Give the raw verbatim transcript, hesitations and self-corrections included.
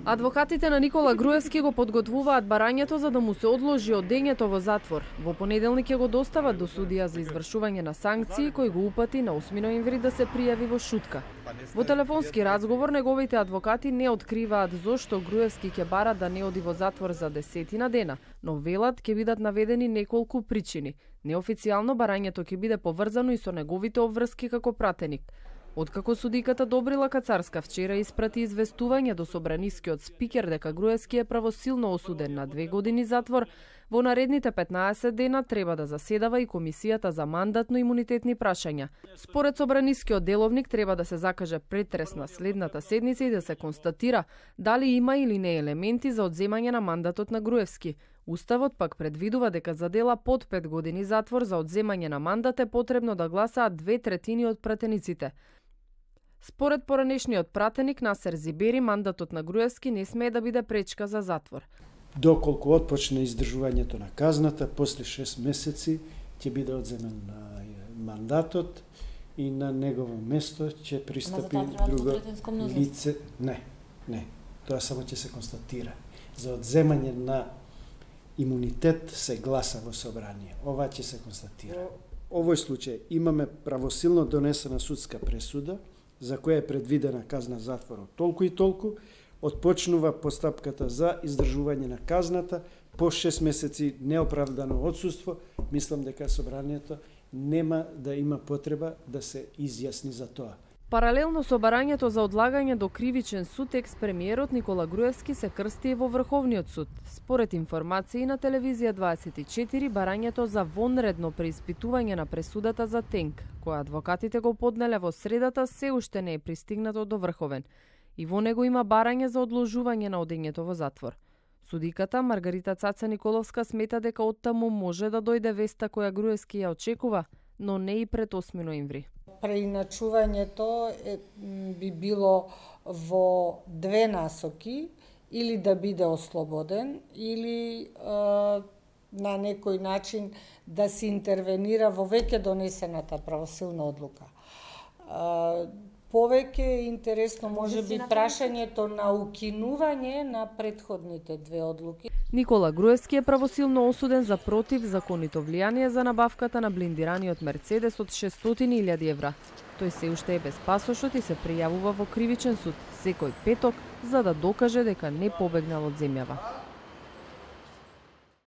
Адвокатите на Никола Груевски го подготвуваат барањето за да му се одложи одењето во затвор. Во понеделник ќе го достават до судија за извршување на санкции, кој го упати на осми ноември да се пријави во Шутка. Во телефонски разговор неговите адвокати не откриваат зошто Груевски ќе бара да не оди во затвор за десетина дена, но велат ќе бидат наведени неколку причини. Неофицијално барањето ќе биде поврзано и со неговите обврски како пратеник. Откако судиката Добрила Кацарска вчера испрати известување до собранискиот спикер дека Груевски е правосилно осуден на две години затвор, во наредните петнаесет дена треба да заседава и комисијата за мандатно-имунитетни прашања. Според собранискиот деловник треба да се закаже претрес на следната седница и да се констатира дали има или не елементи за одземање на мандатот на Груевски. Уставот пак предвидува дека за дела под пет години затвор за одземање на мандат е потребно да гласаат две третини од пратениците. Според поранешниот пратеник Насер Зибери, мандатот на Груевски не смее да биде пречка за затвор. Доколку отпочне издржувањето на казната, после шест месеци ќе биде одземен мандатот и на негово место ќе пристапи друго лице. Не, не, тоа само ќе се констатира. За одземање на имунитет се гласа во собрание. Ова ќе се констатира. Во овој случај имаме правосилно донесена судска пресуда, за која е предвидена казна затвор од толку и толку, отпочнува постапката за издржување на казната по шест месеци неоправдано отсуство. Мислам дека собранието нема да има потреба да се изјасни за тоа. Паралелно со барањето за одлагање до кривичен суд, екс-премиерот Никола Груевски се крсти и во Врховниот суд. Според информации на телевизија дваесет и четири, барањето за вонредно преиспитување на пресудата за Тенк, која адвокатите го поднеле во средата, се уште не е пристигнато до Врховен. И во него има барање за одложување на одењето во затвор. Судиката Маргарита Цаца Николовска смета дека оттаму може да дојде веста која Груевски ја очекува, но не и пред осми ноември. Преиначувањето е, би било во две насоки, или да биде ослободен, или е, на некој начин да се интервенира во веќе донесената правосилна одлука. Е, повеќе е интересно може би прашањето на укинување на претходните две одлуки. Никола Груевски е правосилно осуден за противзаконито влијание за набавката на блиндираниот Мерцедес од шестстотини илјади евра. Тој се уште е без пасошот и се пријавува во кривичен суд секој петок за да докаже дека не побегнал од земјава.